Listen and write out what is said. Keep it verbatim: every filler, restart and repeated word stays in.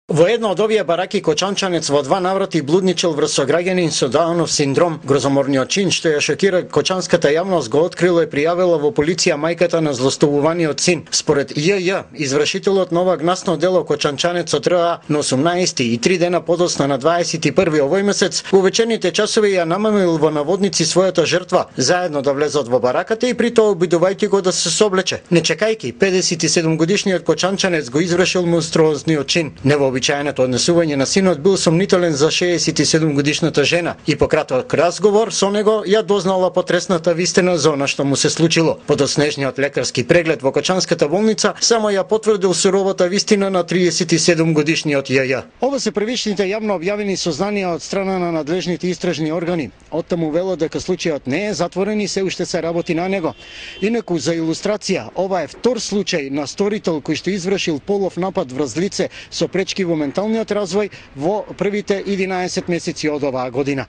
Во една од овие бараки кочанчанец во два наврати блудничел врз сограѓанин со Даунов синдром. Грозоморниот чин што ја шокира кочанската јавност го открила и пријавила во полиција мајката на злостовуваниот син. Според ЈЈ, извршителот на ова гнасно дело кочанчанецот РА на осумнаесети и три дена подоцна на дваесет и први овој месец во вечерните часови ја намамил во наводници својата жртва, заедно да влезат во бараката и при тоа обидувајќи го да се соблече. Не чекајќи, педесет и седум годишниот кочанчанец го извршил монструозниот чин. Обичајното однесување на синот бил сомнителен за шеесет и седум годишната жена и по краток разговор со него ја дознала потресната вистина за она што му се случило. Подоцнежниот лекарски преглед во Кочанската болница само ја потврдил суровата вистина на триесет и седум годишниот ЈЈ. Ова се првичните јавно објавени сознанија од страна на надлежните истражни органи. Оттаму вело дека случајот не е затворен и се уште се работи на него. Инаку за илустрација, ова е втор случај на сторител кој што извршил полов напад врз лице со пречки во менталниот развој во првите единаесет месеци од оваа година.